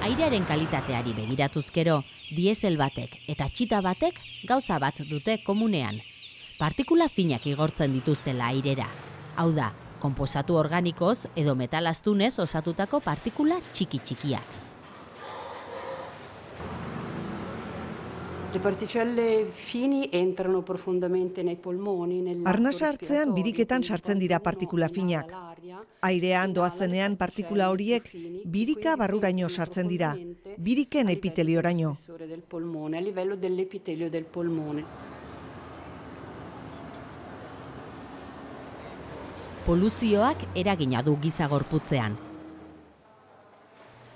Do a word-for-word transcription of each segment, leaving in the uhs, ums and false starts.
Airearen kalitateari begiratuzkero, diesel batek eta txita batek gauza bat dute komunean. Partikula finak igortzen dituztela airera. Hau da, konposatu organikoz edo metal astunez osatutako partikula txiki-txikiak. Le particelle fini entrano profondamente nei polmoni. Arnasa hartzean biriketan sartzen dira partikula finak. Airean doazenean partikula horiek birika barruraino sartzen dira, biriken epitelioraino. A livello dell'epitelio del polmone. Poluzioak eragina du giza gorputzean.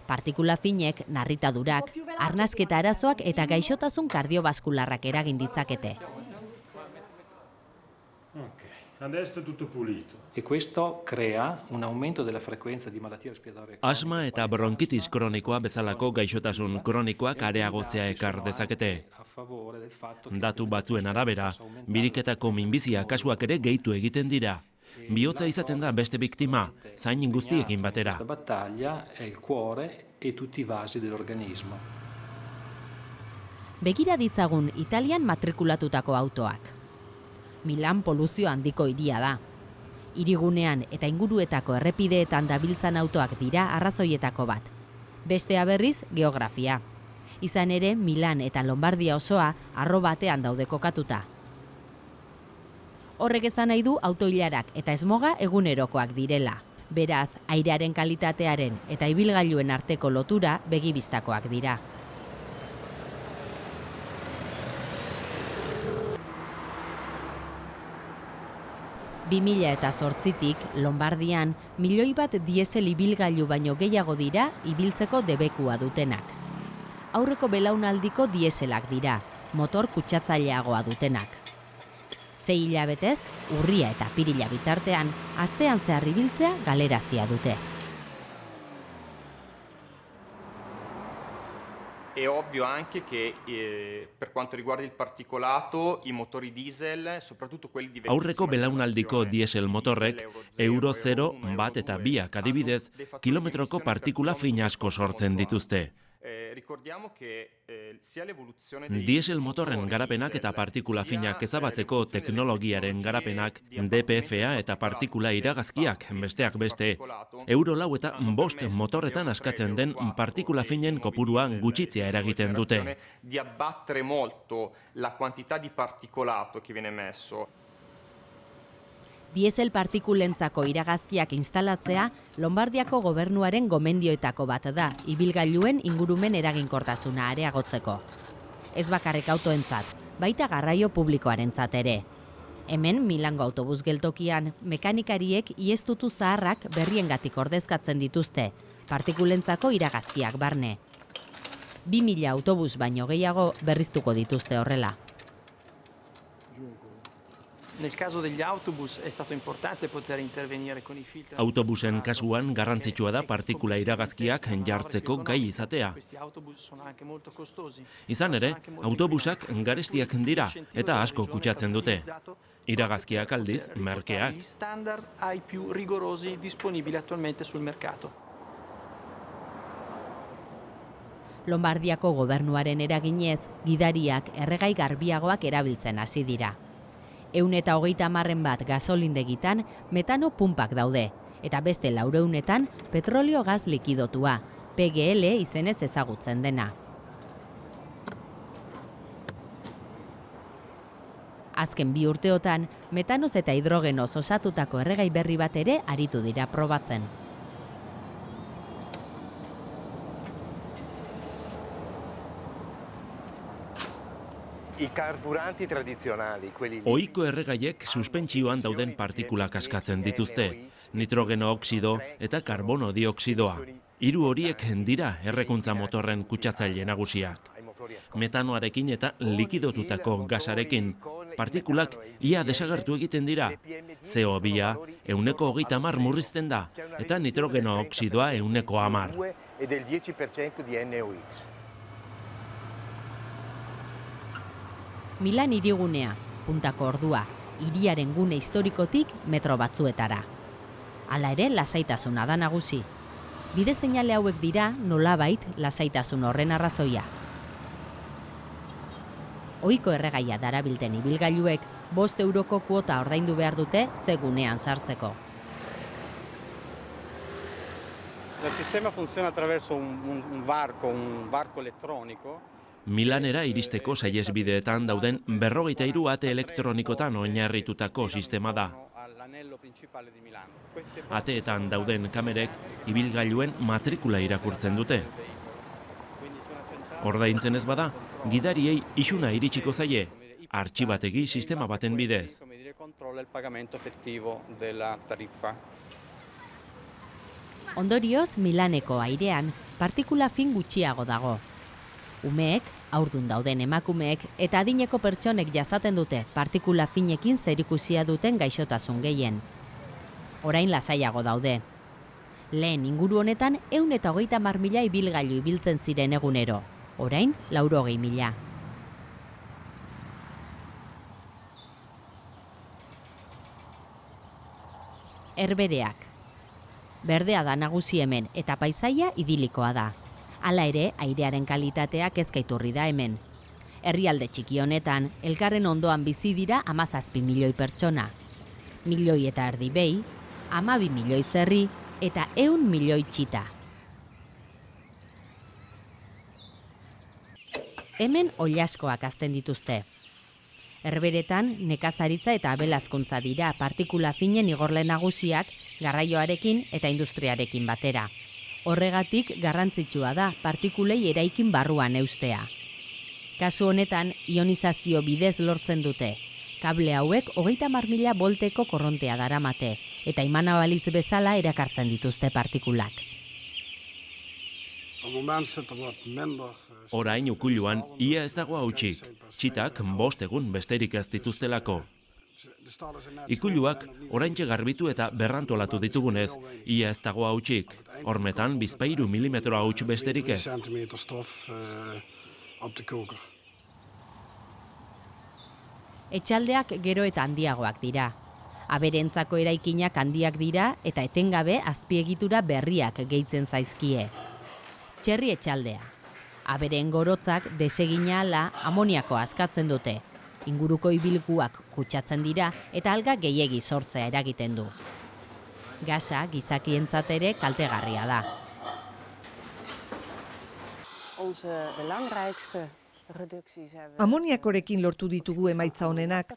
Partikula finek, narritadurak, arnasketa arazoak eta gaixotasun kardiobaskularrak eragin ditzakete. Asma eta bronkitis kronikoa bezalako gaixotasun kronikoak areagotzea ekar dezakete. Datu batzuen arabera, biriketako minbizia kasuak ere gehitu egiten dira. Bihotza izaten da beste biktima, zain guztiekin batera. Begira ditzagun Italian matrikulatutako autoak. Milan poluzio handiko hiria da. Hirigunean eta inguruetako errepideetan dabiltzan autoak dira arrazoietako bat. Bestea berriz geografia. Izan ere, Milan eta Lombardia osoa arro batean daude kokatuta. Horrek esan nahi du autoilarak eta esmoga egunerokoak direla. Beraz, airearen kalitatearen eta ibilgailuen arteko lotura begibistakoak dira. bi mila zortzitik Lombardian milioi bat diesel ibilgailu baino gehiago dira ibiltzeko debekua dutenak. Aurreko belaunaldiko dieselak dira, motor kutsatzaileagoa dutenak. Sei hilabetez, urria eta pirila bitartean, astean zehar ibiltzea galerazia dute. È ovvio anche che eh, per quanto riguarda il particolato, i motori diesel, soprattutto quelli di aurreko belaunaldiko diesel motorrek euro zero, bat eta biak adibidez, kilometroko partikula fin asko sortzen dituzte. Diesel motorren garapenak eta partikula finak ezabatzeko teknologiaren garapenak, D P F-a eta partikula iragazkiak, besteak beste, euro lau eta bost motorretan askatzen den partikula finen kopurua gutxitzea eragiten dute. Di abbattere molto la quantità di particolato che viene emesso. Diesel partikulentzako iragazkiak instalatzea Lombardiako gobernuaren gomendioetako bat da, ibilgailuen ingurumen eraginkortasuna areagotzeko. Ez bakarrik autoentzat, baita garraio publikoarentzat ere. Hemen Milango autobus geltokian mekanikariek iestutu zaharrak berriengatik ordezkatzen dituzte, partikulentzako iragazkiak barne. Bi mila autobus baino gehiago berriztuko dituzte horrela. Nel caso degli autobus è stato importante poter intervenire con i filtri. Autobusen kasuan garrantzitsua da partikula iragazkiak jartzeko gai izatea. Izan ere, autobusak garestiak dira eta asko kutsatzen dute. Iragazkiak aldiz merkeak. Standard ai più rigorosi disponibili attualmente sul mercato. Lombardiako gobernuaren eraginez, gidariak erregai garbiagoak erabiltzen hasi dira. Ehun eta hogeita hamarren bat gasolindegitan metano pumpak daude, eta beste laureunetan petrolio gaz likidotua, P G L izenez ezagutzen dena. Azken bi urteotan, metanoz eta hidrogenoz osatutako erregai berri bat ere aritu dira probatzen. I carburanti tradizionali, quelli ohiko erregaiek suspentsioan dauden partikulak askatzen dituzte, nitrogeno oxido eta karbono dioxidoa. Hiru horiek dira errekuntza motorren kutsatzaile nagusiak. Metanoarekin eta likidotutako gasarekin, partikulak ia desagertu egiten dira. C O bia ehuneko hogeita hamar murrizten da, eta nitrogeno oxidoa ehuneko hamar. Milan hirigunea, puntako ordua, hiriaren gune historikotik metro batzuetara. Hala ere, lasaitasuna da nagusi. Bide seinale hauek dira nolabait lasaitasun horren arrazoia. Ohiko erregaia darabilten ibilgailuek bost euroko kuota ordaindu behar dute segunean sartzeko. El sistema funciona a través de un, un barco, un barco electrónico. Milanera iristeko saihesbideetan dauden berrogeita hiru ate elektronikotan oinarritutako sistema da. Ateetan dauden kamerek ibilgailuen matrikula irakurtzen dute. Ordaintzen ez bada, gidariei isuna iritsiko zaie, artxibategi sistema baten bidez. Ondorioz, Milaneko airean partikula fin gutxiago dago. Umeek, haurdun dauden emakumeek eta adineko pertsonek jasaten dute partikula finekin zerikusia duten gaixotasun gehien. Orain lasaiago daude. Lehen inguru honetan ehun eta hogeita hamar mila ibilgailu ibiltzen ziren egunero. Orain laurogei mila. Herbereak. Berdea da nagusi hemen eta paisaia idilikoa da. Hala ere, airearen kalitateak ezkaiturri da hemen. Herrialde txiki honetan, elkarren ondoan bizi dira hamazazpi milioi pertsona. Milioi eta erdi behi, hamabi milioi zerri eta ehun milioi txita. Hemen oilaskoak hazten dituzte. Herberetan, nekazaritza eta abelazkuntza dira partikula finen igorle nagusiak garraioarekin eta industriarekin batera. Horregatik garrantzitsua da partikulei eraikin barruan eustea. Kasu honetan, ionizazio bidez lortzen dute. Kable hauek hogeita hamar mila volteko korrontea daramate, eta imana balitz bezala erakartzen dituzte partikulak. Orain ukuluan ia ez dago hautsik, txitak bost egun besterik ez dituztelako. Ikuluak oraintxe garbitu eta berrantolatu ditugunez, ia ez dago hautsik, hormetan bizpahiru milimetro hauts besterik ez. Etxaldeak gero eta handiagoak dira. Aberentzako eraikinak handiak dira eta etengabe azpiegitura berriak gehitzen zaizkie. Txerri etxaldea. Aberen gorotzak desegina ala amoniako askatzen dute. Inguruko ibilguak kutsatzen dira eta alga gehiegi sortzea eragiten du. Gasa gizakientzat ere kaltegarria da. Amoniakorekin lortu ditugu emaitza honenak.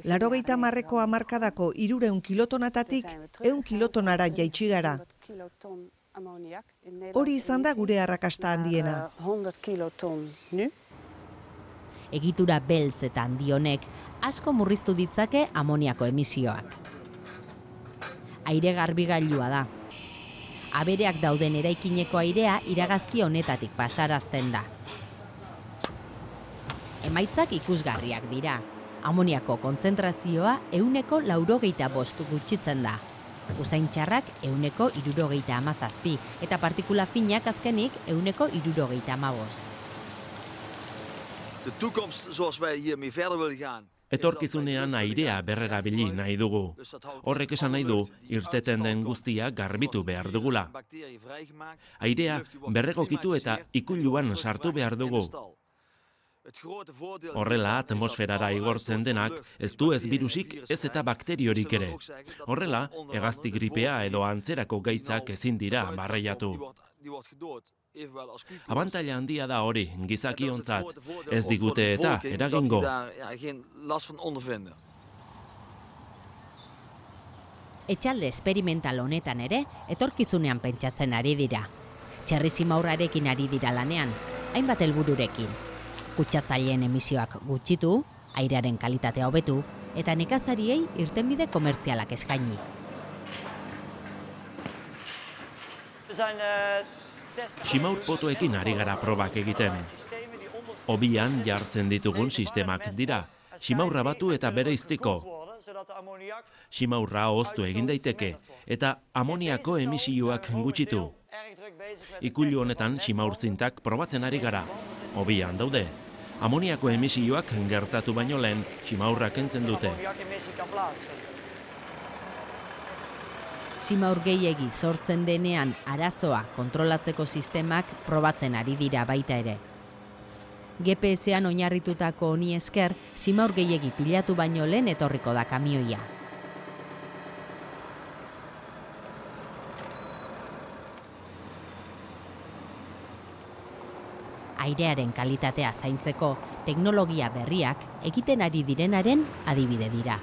Laurogeita hamarreko hamarkadako hirurehun kilotonatatik ehun kilotonara jaitsi gara. Hori izan da gure arrakasta handiena. Egitura beltz eta handi honek asko murriztu ditzake amoniako emisioak. Aire garbigailua da. Abereak dauden eraikineko airea iragazki honetatik pasarazten da. Emaitzak ikusgarriak dira. Amoniako kontzentrazioa ehuneko laurogeita bost gutxitzen da. Usaintxarrak ehuneko hirurogeita hamazazpi eta partikula finak azkenik ehuneko hirurogeita hamabost. Etorkizunean airea berrerabili nahi dugu. Horrek esan nahi du, irteten den guztia garbitu behar dugula. Airea berregokitu eta ikuluan sartu behar dugu. Horrela, atmosferara igortzen denak, ez du ez virusik ez eta bakteriorik ere. Horrela, hegazti gripea edo antzerako gaitzak ezin dira barreiatu. Abantaila handia da hori, gizakiontzat, ez digute eta eragingo. Etxalde esperimental honetan ere, etorkizunean pentsatzen ari dira. Txerri zimaurrarekin ari dira lanean, hainbat helbururekin. Kutsatzaileen emisioak gutxitu, airearen kalitatea hobetu, eta nekazariei irtenbide komertzialak eskaini. Simaur potoekin ari gara probak egiten. Obian jartzen ditugun sistemak dira. Simaurra batu eta bereiztiko. Simaurra hoztu egin daiteke eta amoniako emisioak gutxitu. Ikulu honetan simaur zintak probatzen ari gara. Obian daude. Amoniako emisioak gertatu baino lehen simaurra kentzen dute. Zimaur gehiegi sortzen denean arazoa kontrolatzeko sistemak probatzen ari dira baita ere. G P S-an oinarritutako honi esker, zimaur gehiegi pilatu baino lehen etorriko da kamioia. Airearen kalitatea zaintzeko teknologia berriak egiten ari direnaren adibide dira.